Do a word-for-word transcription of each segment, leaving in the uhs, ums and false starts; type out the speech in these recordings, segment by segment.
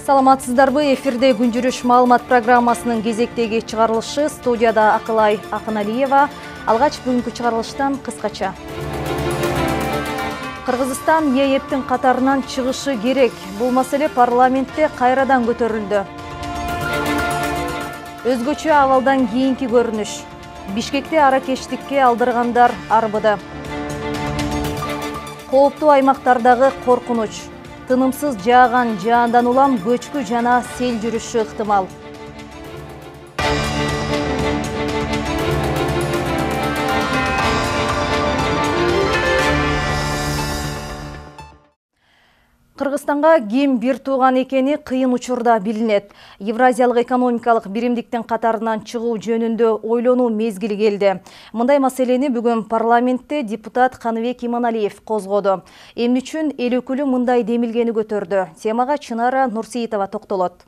Саламатсыздарбы? Эфирде күн жүрүш маалымат программасынын кезектеги чыгарылышы. Студияда Акылай Акыналиева. Алгач бүгүнкү чыгарылыштан кыскача. Кыргызстан ЕЭПтин катарынан чыгышы керек. Бул маселе парламентте кайрадан көтөрүлдү. Өзгөчө абалдан кийинки көрүнүш. Бишкекте аракечтикке алдыргандар арбыды. Кооптуу аймактардагы коркунуч. Тынымсыз жааган жаандан улам көчкү жана сел жүрүшү ыктымал. Кыргызстанга ким бир тууган экени кыйын учурда билинет. Евразиялык экономикалык биримдиктин катарынан чыгуу жөнүндө ойлонуу мезгили келди. Мындай маселени бүгүн парламентте депутат Каныбек Иманалиев козгоду. Эмне үчүн эл өкүлү мындай демилгени көтөрдү? Темага Чынара Нурсейитова токтолот.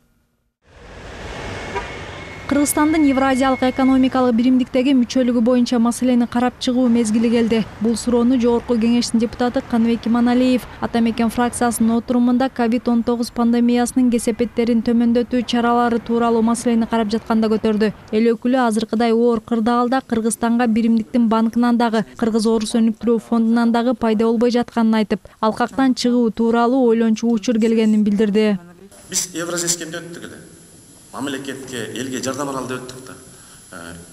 Кыргызстандын Евразиялык экономикалык биримдиктеги мүчөлүгү боюнча маселени карап чыгуу мезгили келди. Бул суроону Жогорку Кеңештин депутаты Каныбек Иманалиев Ата Мекен фракциясынын отурумунда ковид он тогуз пандемиясынын кесепеттерин төмөндөтүү чаралары тууралуу маселени карап жатканда көтөрдү. Эл өкүлү азыркыдай оор кырдаалда Кыргызстанга биримдиктин банкынан дагы, Кыргыз-Орус өнүктүрүү фондунан дагы пайда болбой жатканын айтып, алкактан чыгуу тууралуу ойлончу учур келгенин билдирди. Биз Евразискенде өттүк эле. Мамлекетке, элге жардам аралды өттүк да.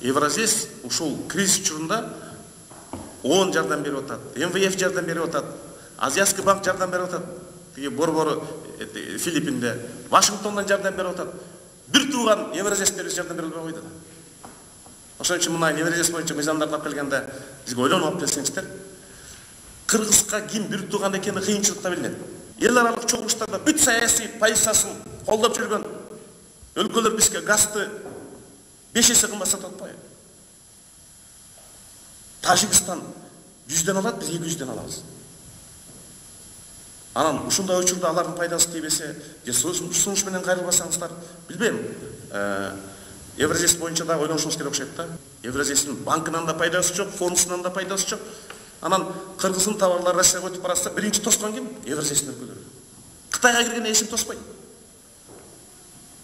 Евразис ушул кризис учурунда ООН жардам берип атат, эм вэ эф жардам берип атат, Азиатский банк жардам берип атат, тиги борбору Филиппинде, Вашингтондон жардам берип атат. Бир тууган Евразиске жардам берип койду да. Ошон үчүн мына Евразис боюнча мыйзамдарды алып келгенде бизге ойлонуп алып келсеңиздер, Кыргызга ким бир тууган экени кыйынчылыкта билинет. Эл аралык чогулуштарда бүт саясий позициясын колдоп жүргөн өлкөлөр бизге газды беш эсе кымбат сатып атпайбы? Тажикстан жүздөн алат, биз эки жүздөн алабыз. Анан ушундай учурда алардын пайдасы тийбесе, же сунуш менен кайрылбасаңыздар, билбейм. Евразис боюнча да ойлонушубуз керек окшойт да. Евразистин банкынан да пайдасы жок, фондусунан да пайдасы жок. Анан Кыргыздын товарлары Россияга өтүп баратса, биринчи тоскон ким? Евразистин өлкөлөрү. Кытайга кирген эч ким тоспойт.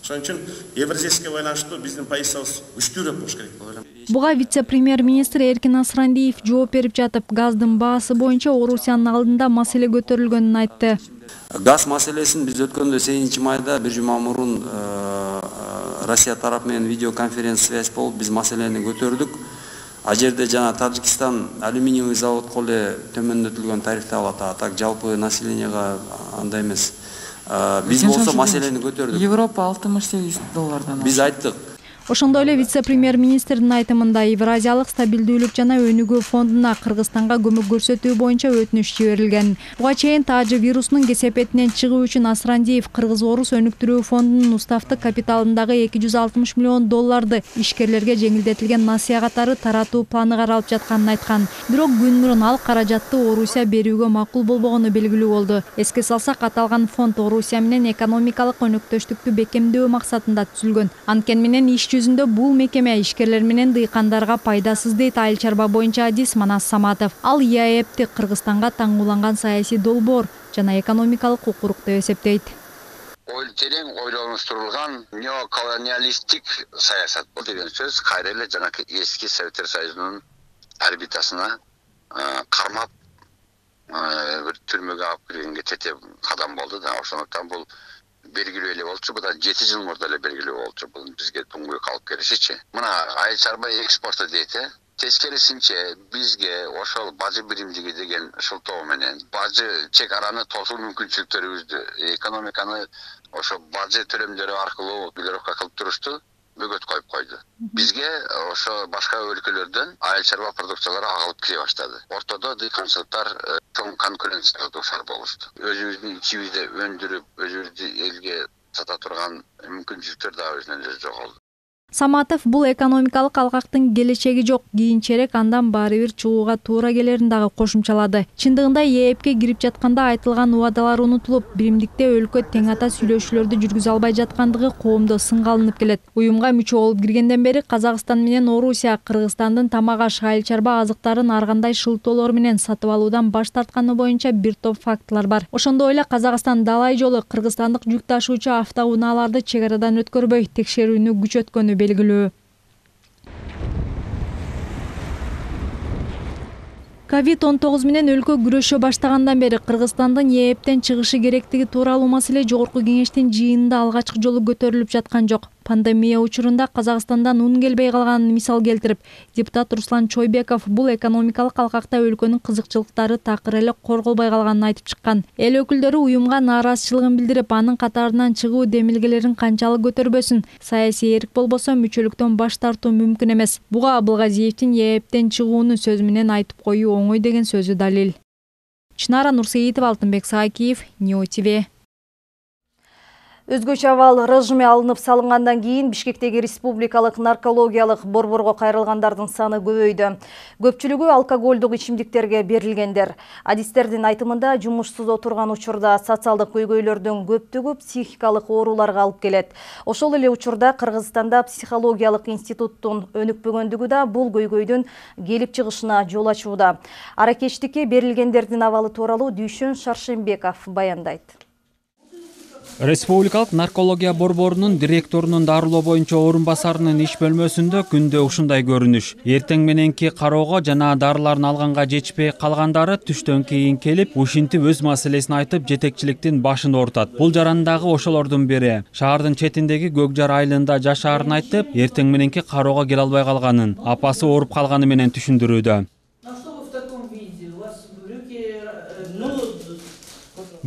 Ошон үчүн Евразиске байланыштуу биздин позициябыз күчтүүрөөк болуш керек деп ойлойм. Буга вице-премьер-министр Эркин Асрандиев жооп берип жатып, газдын баасы боюнча Орусиянын алдында маселе көтөрүлгөнүн айтты. Газ маселесин биз өткөндө сегизинчи майда бир жума мурун Россия тарапы менен видеоконференция связь болуп биз маселени көтөрдүк. А жерде жана Тажикстан алюминиевый заводко эле төмөндөтүлгөн тарифти алат, а так жалпы населенияга андай эмес. Биз болсо маселени көтөрдүк. Европа алтымыш сегиз доллардан. Биз айттык. Ошондой эле вице-премьер-министрдин айтымында Евразиялык стабилдүүлүк жана өнүгүү фондуна Кыргызстанга көмөк көрсөтүү боюнча өтүнүч жиберилген. Буга чейин таажы вирусунун кесепетинен чыгуу үчүн Асрандиев Кыргыз-Орус өнүктүрүү фондунун уставдык капиталындагы эки жүз алтымыш миллион долларды ишкерлерге жеңилдетилген насыя катары таратуу планы каралып жатканын айткан. Бирок күн мурун ал каражатты Орусия берүүгө макул болбогону белгилүү болду. Эске салсак, аталган фонд Орусия менен экономикалык өнөктөштүктү бекемдөө максатында түзүлгөн. Анткени менен иш жүзүндө бул мекеме ишкерлер менен дыйкандарга пайдасыз дейт айыл чарба боюнча адис Манас Саматов. Ал ЕАЭПти Кыргызстанга таңгууланган саясий долбоор жана экономикалык укурук деп эсептейт. Ой терең ойлонуштурулган неоколониалисттик саясат бул деген сөз кайра эле жанакы эски Советтер Союзунун орбитасына кармап бир түрмөгө алып киргенге тете кадам болду да. Ошондуктан бул белгилүү эле болчу, бу да жети жыл мурда эле белгилүү болчу. Бул бизге туңгуйук алып келишичи. Мына айыл чарба экспорту дейт, э? Тескерисинче бизге ошол бажы биримдиги деген шылтоо менен бажы чек араны тосуу мүмкүнчүлүктөрүбүздү, экономиканы ошо бажы төлөмдөрү аркылуу блокировка кылып турушту бөгөт коюп койду. Бизге ошо башка өлкөлөрдөн айыл чарба продукциялары агылып кире баштады. Ортодо дыйканчылыктар чоң конкуренцияга дуушар болушту. Өзүбүздүн ичибизде өндүрүп, өзүбүздү элге сата турган мүмкүнчүлүктөр да өзүнөн өзү жоголду. Саматов бул экономикалык алкактын келечеги жок, кийинчерээк андан баары бир чыгууга туура келерин дагы кошумчалады. Чындыгында ЕЭПке кирип жатканда айтылган убадалар унутулуп, биримдикте өлкө тең ата сүйлөшүүлөрдү жүргүзө албай жаткандыгы коомдо сынга алынып келет. Уюмга мүчө болуп киргенден бери Казакстан менен Орусия Кыргызстандын тамак-аш, айыл чарба азыктарын ар кандай шылтоолор менен сатып алуудан баш тартканы боюнча бир топ фактылар бар. Ошондой эле Казакстан далай жолу кыргызстандык жүк ташуучу автоунааларды чек арадан өткөрбөй текшерүүнү күчөткөнү белгилүү. ковид он тогуз менен өлкө күрөшө баштагандан бери Кыргызстандын ЕЭПтен чыгышы керектиги тууралуу маселе Жогорку Кеңештин жыйынында алгачкы жолу көтөрүлүп жаткан жок. Пандемия учурунда Казакстандан ун келбей калганын мисал келтирип, депутат Руслан Чойбеков бул экономикалык алкакта өлкөнүн кызыкчылыктары такыр эле корголбой калганын айтып чыккан. Эл өкүлдөрү уюмга нааразычылыгын билдирип, анын катарынан чыгуу демилгелерин канчалык көтөрбөсүн, саясий эрк болбосо мүчөлүктөн баш тартуу мүмкүн эмес. Буга Абылгазиевдин ЕЭПтен чыгууну сөз менен айтып коюу оңой деген сөзү далил. Чынара Нурсеитова, Алтынбек Саакиев, Ньюс ТВ. Өзгөчө абал режиме алынып салынгандан кийин Бишкектеги республикалык наркологиялык борборго кайрылгандардын саны көбөйдү. Көпчүлүгү алкоголдук ичимдиктерге берилгендер. Адистердин айтымында жумушсуз отурган учурда социалдык көйгөйлөрдүн көптүгү психикалык ооруларга алып келет. Ошол эле учурда Кыргызстанда психологиялык институттун өнүкпөгөндүгү да бул көйгөйдүн келип чыгышына жол ачууда. Аракечтикке берилгендердин абалы тууралуу Дүйшөн Шаршембеков баяндайт. Республикалык наркология борборунун директорунун дарылоо боюнча орун басарынын иш бөлмөсүндө күндө ушундай көрүнүш. Эртең мененки кароого жана дарыларын алганга жетишпей калгандары түштөн кийин келип, ушинтип өз маселесин айтып, жетекчиликтин башын оорутат. Бул жарандагы ошолордун бири. Шаардын четиндеги Көк Жар айылында жашаарын айтып, эртең мененки кароого келе албай калганын, апасы ооруп калганы менен түшүндүрүүдө.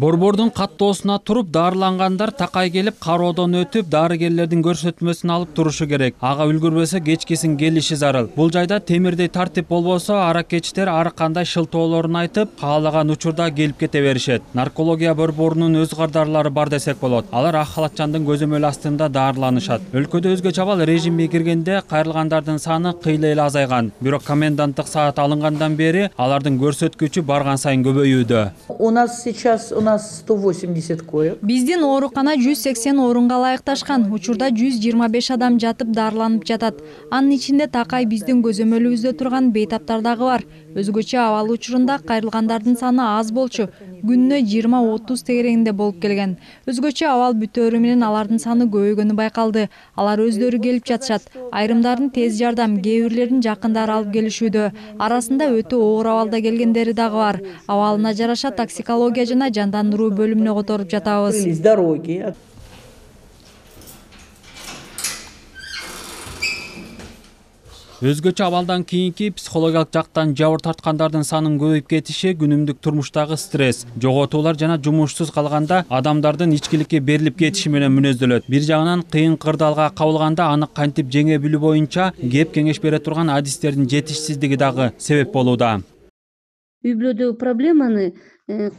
Борбордун каттоосуна туруп, дарылангандар такай келип, кароодон өтүп, дарыгерлердин көрсөтмөсүн алып турушу керек. Ага үлгүрбөсө кечкисин келиши зарыл. Бул жайда темирдей тартип болбосо, аракечтер ар кандай шылтоолорун айтып, каалаган учурда келип кете беришет. Наркология борборунун өз кардарлары бар десек болот. Алар ак халатчандын көзөмөлү астында дарыланышат. Өлкөдө өзгөчө абал режимге киргенде кайрылгандардын саны кыйла эле азайган. Бирок коменданттык саат алынгандан бери алардын көрсөткүчү барган сайын көбөйүүдө. У нас сейчас у нас сто восемьдесят коек. Биздин оорукана жүз сексен орунга ылайыкташкан. Учурда жүз жыйырма беш адам жатып дарыланып жатат. Анын ичинде такай биздин көзөмөлүбүздө турган бейтаптар дагы бар. Өзгөчө абал учурунда кайрылгандардын саны аз болчу. Күнүнө жыйырма отуз тегерегинде болуп келген. Өзгөчө абал бүтөөрү менен алардын саны көбөйгөнү байкалды. Алар өздөрү келип жатышат. Айрымдарын тез жардам, кээ бирлерин жакындары алып келишүүдө. Арасында өтө оор абалда келгендери дагы бар. Абалына жараша токсикология жана жандандыруу бөлүмүнө которуп жатабыз. Өзгөчө абалдан кийинки психологиялык жактан жабыр тарткандардын санын көбөйүп кетиши күнүмдүк турмуштагы стресс, жоготуулар жана жумушсуз калганда адамдардын ичкиликке берилип кетиши менен мүнөздөлөт. Бир жагынан кыйын кырдаалга кабылганда аны кантип жеңе билүү боюнча кеп кеңеш бере турган адистердин жетишсиздиги дагы себеп болууда. Үй бүлөдөгү проблеманы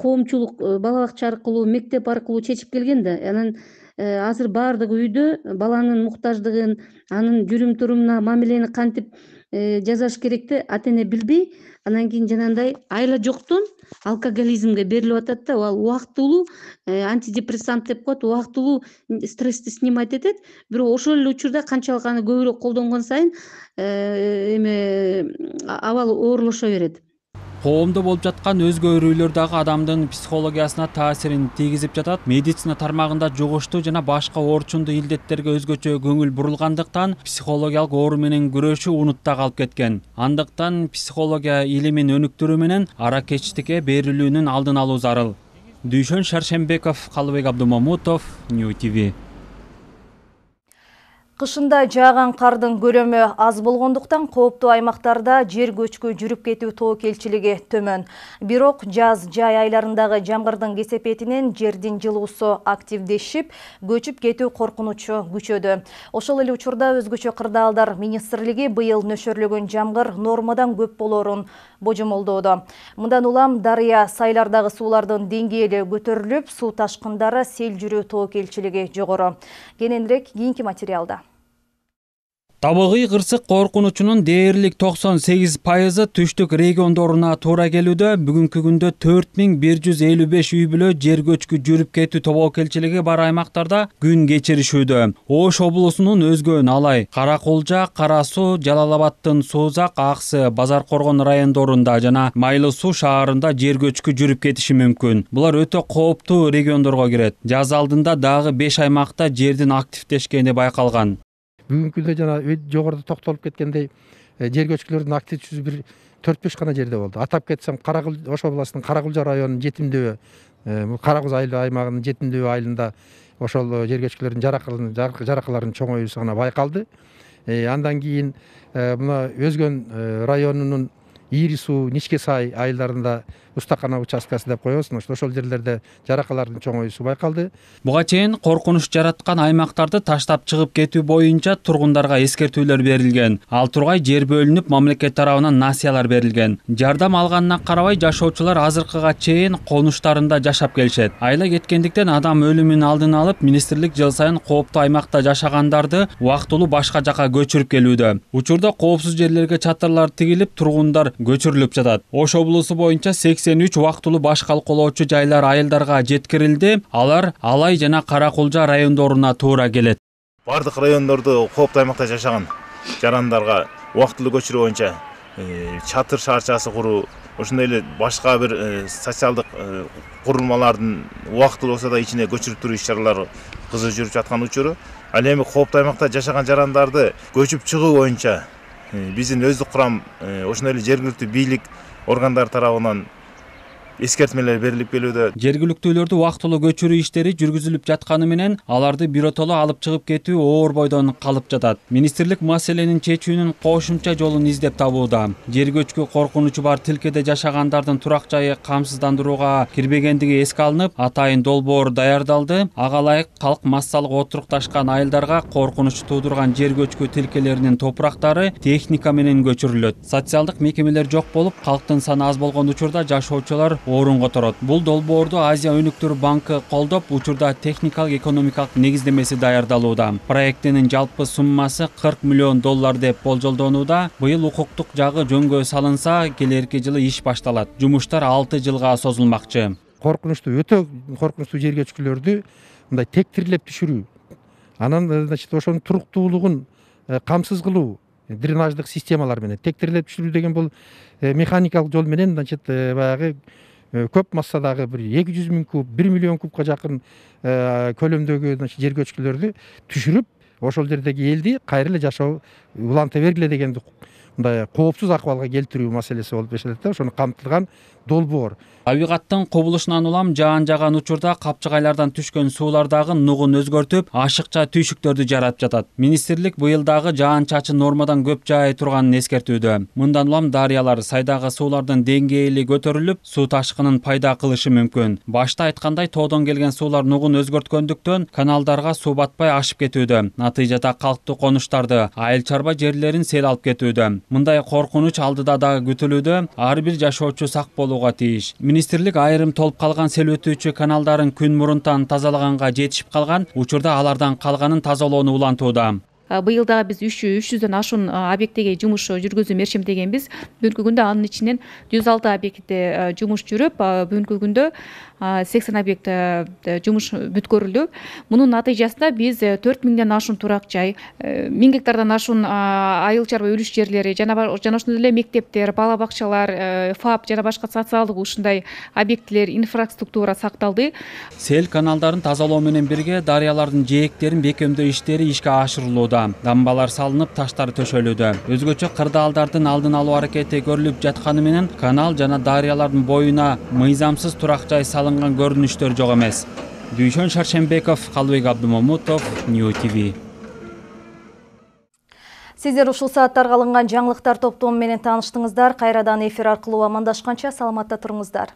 коомчулук бала бакча аркылуу, мектеп аркылуу чечип келген да. Анан азыр баардык үйдө баланын муктаждыгын, анын жүрүм турумуна, мамилени кантип жасаш керекти ата эне билбей, анан кийин жанагындай айла жоктон алкоголизмге берилип атат да. Ал убактылуу антидепрессант деп коет, убактылуу стрессти снимать этет. Бирок ошол эле учурда канчалык аны көбүрөөк колдонгон сайын эме абал оорлошо берет. Коомдо болуп жаткан өзгө өрүүлөр дагы адамдын психологиясына таасирин тийгизип жатат. Медицина тармагында жугуштуу жана башка оорчундуу илдеттерге өзгөчө көңүл бурулгандыктан психологиялык оору менен күрөшүү унутта калып кеткен. Андыктан психология илимин өнүктүрүү менен аракечтикке берилүүнүн алдын алуу зарыл. Дүйшөн Шаршембеков, Калыбек Абдумамутов, Ньюс ТВ. Кышында жааган кардын көлөмү аз болгондуктан кооптуу аймактарда жер көчкү жүрүп кетүү тобокелчилиги төмөн. Бирок жаз жай айларындагы жамгырдын кесепетинен жердин жылуусу активдешип, көчүп кетүү коркунучу күчөдү. Ошол эле учурда өзгөчө кырдаалдар министрлиги быйыл нөшөрлөгөн жамгыр нормадан көп болоорун божомолдоодо. Мындан улам дарыя, сайлардагы суулардын деңгээли көтөрүлүп, суу ташкындары, сел жүрүү тобокелчилиги жогору. Кененирээк кийинки материалда. Табигый кырсык коркунучунун дээрлик токсон сегиз пайызы түштүк региондоруна туура келүүдө. Бүгүнкү күндө төрт миң бир жүз элүү беш үй бүлө жер көчкү жүрүп кетүү тобокелчилиги бар аймактарда күн кечиришүүдө. Ош облусунун өзгөн Алай, Каракулжа, Кара Суу, Жалал Абадтын Суузак, Аксы, Базар Коргон райондорунда жана Майлы Суу шаарында жер көчкү жүрүп кетиши мүмкүн. Булар өтө кооптуу региондорго кирет. Жаз алдында дагы беш аймакта жердин активдешкени байкалган. Бүгүнкү күндө жана жогоруда токтолуп кеткендей жер көчкүлөрдүн актив жүзү бир төрт беш гана жерде болду. Атап кетсем, Каракул Ош областынын Каракулжа районунун Жетимдөбө, Каракөз айыл аймагынын Жетимдөбө айылында ошол жер көчкүлөрдүн жаракаларынын чоңоюусу гана байкалды. Андан кийин мына Өзгөн районунун Ири Суу, Ничке Сай айылдарында устакана участкасы деп коебуз. Ошол жерлерде жаракалардын чоңоюусу байкалды. Буга чейин коркунуч жараткан аймактарды таштап чыгып кетүү боюнча тургундарга эскертүүлөр берилген. Ал тургай жер бөлүнүп, мамлекет тарабынан насыялар берилген. Жардам алганына карабай жашоочулар азыркыга чейин конуштарында жашап келишет. Айла кеткендиктен адам өлүмүнүн алдын алып, министрлик жыл сайын кооптуу аймакта жашагандарды убактылуу башка жака көчүрүп келүүдө. Учурда коопсуз жерлерге чатырлар тигилип, тургундар көчүрүлүп жатат. Ош облусу боюнча сексен үч убактылуу баш калкалоочу жайлар айылдарга жеткирилди. Алар Алай жана Каракулжа райондоруна туура келет. Бардык райондордо кооптуу аймакта жашаган жарандарга убактылуу көчүрүү боюнча чатыр шаарчасы куруу, ошондой эле башка бир социалдык курулмалардын убактылуу болсо да ичине көчүрүп туруу иш-чаралары кызуу жүрүп жаткан учуру. Ал эми кооптуу аймакта жашаган жарандарды көчүп чыгуу боюнча биздин өздүк курам, ошондой эле жергиликтүү бийлик органдары тарабынан эскертмелер берилип келүүдө. Жергиликтүүлөрдү убактылуу көчүрүү иштери жүргүзүлүп жатканы менен аларды биротоло алып чыгып кетүү оор бойдон калып жатат. Министрлик маселенин чечүүнүн кошумча жолун издеп табууда. Жер көчкү коркунучу бар тилкеде жашагандардын турак жайы камсыздандырууга кирбегендиги эске алынып, атайын долбоор даярдалды. Ага ылайык калк массалык отурукташкан айылдарга коркунуч туудурган жер көчкү тилкелеринин топурактары техника менен көчүрүлөт. Социалдык мекемелер жок болуп, калктын саны аз болгон учурда жашоочулар орун которот. Бул долбоорду Азия өнүктүрүү банкы колдоп, учурда техникалык экономикалык негиздемеси даярдалууда. Проектинин жалпы суммасы кырк миллион доллар деп болжолдонууда. Быйыл укуктук жагы жөнгө салынса, келерки жылы иш башталат. Жумуштар алты жылга созулмакчы. Коркунучтуу, өтө коркунучтуу жер көчкүлөрдү мындай тектирлеп түшүрүү, анан значит ошонун туруктуулугун камсыз кылуу, дренаждык системалар менен тектирлеп түшүрүү деген бул механикалык жол менен значит баягы көп массадагы бир эки жүз миң куб, бир миллион кубка жакын көлөмдөгү жер көчкүлөрдү түшүрүп, ошол жердеги элди кайра эле жашоо уланта бергиле деген мындай коопсуз акыбалга келтирүү маселеси болуп эсептелет да, ошону камтылган долбоор. Табигаттын кубулушунан улам жаан жаган учурда капчыгайлардан түшкөн суулардагы нугун өзгөртүп, ашыкча түйшүктөрдү жаратып жатат. Министрлик быйыл дагы жаан чачын нормадан көп жаай турганын эскертүүдө. Мындан улам дарыялар, сайдагы суулардын деңгээли көтөрүлүп, суу ташкынын пайда кылышы мүмкүн. Башта айткандай, тоодон келген суулар нугун өзгөрткөндүктөн каналдарга суу батпай ашып кетүүдө. Натыйжада калктуу конуштарды, айыл чарба жерлерин сел алып кетүүдө. Мындай коркунуч алдыда дагы күтүлүүдө. Ар бир жашоочу сак болууга тийиш. Министрлик айрым толуп калган сел өтүүчү каналдарын күн мурунтан тазалаганга жетишип калган, учурда алардан калганын тазалоону улантууда. Быйыл дагы биз үч жүздөн ашуун объектиге жумуш жүргүзүү мерчемдегенбиз. Бүгүнкү күндө анын ичинен жүз алты объектте жумуш жүрүп, бүгүнкү күндө сексен объект жумуш бүткөрүлдү. Мунун натыйжасында биз төрт миңден ашуун турак жай, миң гектардан ашуун айыл чарба үлүш жерлери жана жана ошондой эле мектептер, бала бакчалар, ФАП жана башка социалдык ушундай объектилер, инфраструктура сакталды. Сел каналдарын тазалоо менен бирге дарыялардын жээктерин бекемдөө иштери ишке ашырылууда. Дамбалар салынып, таштар төшөлүүдө. Өзгөчө кырдаалдардын алдын алуу аракети көрүлүп жатканы менен канал жана дарыялардын боюна мыйзамсыз турак жай салынган көрүнүштөр жок эмес. Дүйшөн Шаршембеков, Калыбек Абдымамутов, Нью ТВ. Сиздер ушул сааттарга алынган жаңылыктар топтому менен тааныштыңыздар. Кайрадан эфир аркылуу амандашканча саламатта туруңуздар.